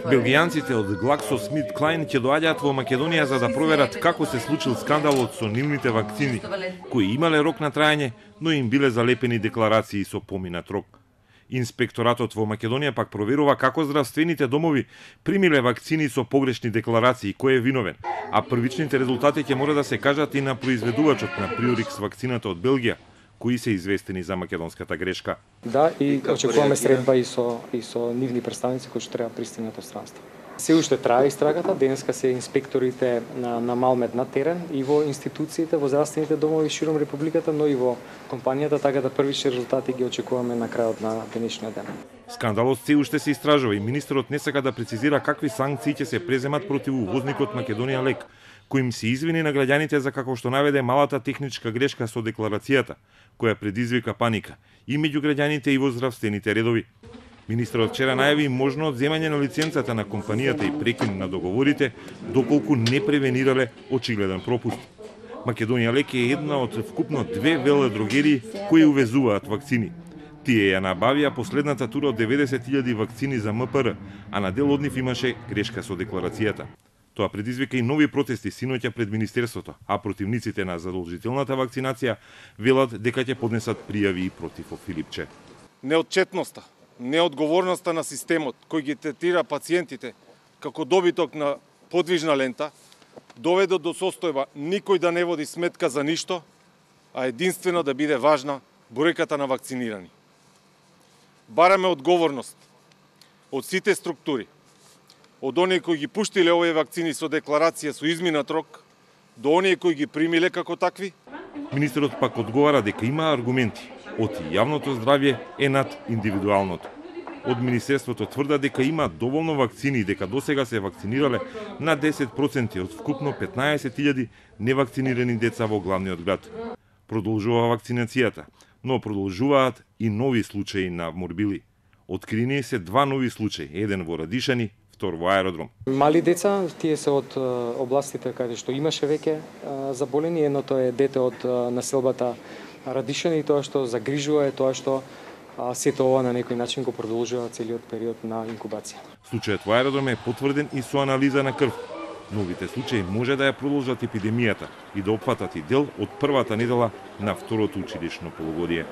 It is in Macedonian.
Белгијанците од GlaxoSmithKline ќе доаѓаат во Македонија за да проверат како се случил скандалот со нивните вакцини, кои имале рок на траење, но им биле залепени декларации со поминат рок. Инспекторатот во Македонија пак проверува како здравствените домови примиле вакцини со погрешни декларации, кој е виновен, а првичните резултати ќе мора да се кажат и на произведувачот на Priorix вакцината од Белгија, кои се известени за македонската грешка. Да, и очекуваме средба и со нивни представници кои што треба пристигнат од странство. Се уште трае истрагата, денеска се инспекторите на Малмед на терен и во институциите, во здравствените домови широм републиката, но и во компанијата, така да првични резултати ги очекуваме на крајот на денешниот ден. Скандалот се уште се истражува и министерот не сака да прецизира какви санкции ќе се преземат против увозникот Македонија Лек, кој им се извини на граѓаните за како што наведе малата техничка грешка со декларацијата, која предизвика паника и меѓу граѓаните и во здравствените редови. Министерот вчера најави можно одземање на лиценцата на компанијата и прекин на договорите, доколку не превенирале очигледен пропуст. Македонија Лек е една од вкупно 2 веледрогерии кои увезуваат вакцини. Тие ја набавија последната тура од 90.000 вакцини за МПР, а на дел од нив имаше грешка со декларацијата. Тоа предизвика и нови протести синоќа пред Министерството, а противниците на задолжителната вакцинација велат дека ќе поднесат пријави и против Филипче. Неотчетноста, неодговорноста на системот кој ги третира пациентите како добиток на подвижна лента доведе до состојба никој да не води сметка за ништо, а единствено да биде важна бројката на вакцинирани. Бараме одговорност од сите структури, од оние кои ги пуштиле овие вакцини со декларација со изминат рок, до оние кои ги примиле како такви. Министерот пак одговара дека има аргументи, од јавното здравје е над индивидуалното. Од Министерството тврда дека има доволно вакцини и дека досега се вакцинирале на 10% од вкупно 15.000 невакцинирани деца во главниот град. Продолжува вакцинацијата, но продолжуваат и нови случаи на морбили. Открини се 2 нови случаи, еден во Радишани, втор во аеродром. Мали деца, тие се од областите каде што имаше веќе заболени, едното е дете од населбата Радишани, тоа што загрижува е тоа што сето ова на некој начин го продолжува целиот период на инкубација. Случајот во аеродром е потврден и со анализа на крв. Новите случаи може да ја продолжат епидемијата и да опфатат и дел од првата недела на второто училишно полугодие.